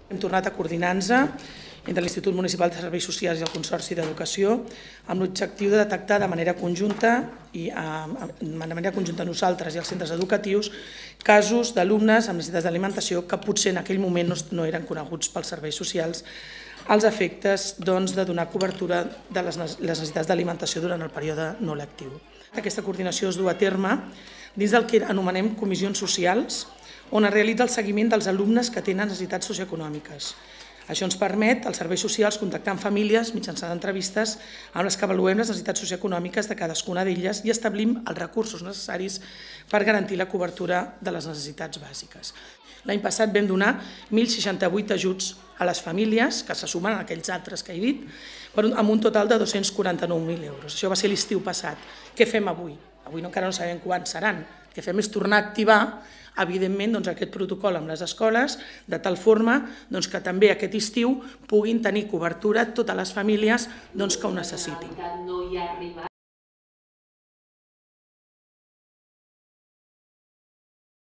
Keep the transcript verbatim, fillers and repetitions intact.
Hem tornat a coordinar-nos entre l'Institut Municipal de Serveis Socials i el Consorci d'Educació amb l'objectiu de detectar de manera conjunta i de manera conjunta nosaltres i els centres educatius casos d'alumnes amb necessitats d'alimentació que potser en aquell moment no eren coneguts pels serveis socials als efectes de donar cobertura de les necessitats d'alimentació durant el període no lectiu. Aquesta coordinació es du a terme dins del que anomenem comissions socials, on es realitza el seguiment dels alumnes que tenen necessitats socioeconòmiques. Això ens permet als serveis socials contactar amb famílies mitjançant entrevistes amb les que avaluem les necessitats socioeconòmiques de cadascuna d'elles i establim els recursos necessaris per garantir la cobertura de les necessitats bàsiques. L'any passat vam donar mil seixanta-vuit ajuts a les famílies, que se sumen a aquells altres que he dit, amb un total de dos-cents quaranta-nou mil euros. Això va ser l'estiu passat. Què fem avui? Avui encara no sabem quants seran. El que fem és tornar a activar evidentment aquest protocol amb les escoles, de tal forma que també aquest estiu puguin tenir cobertura totes les famílies que ho necessitin.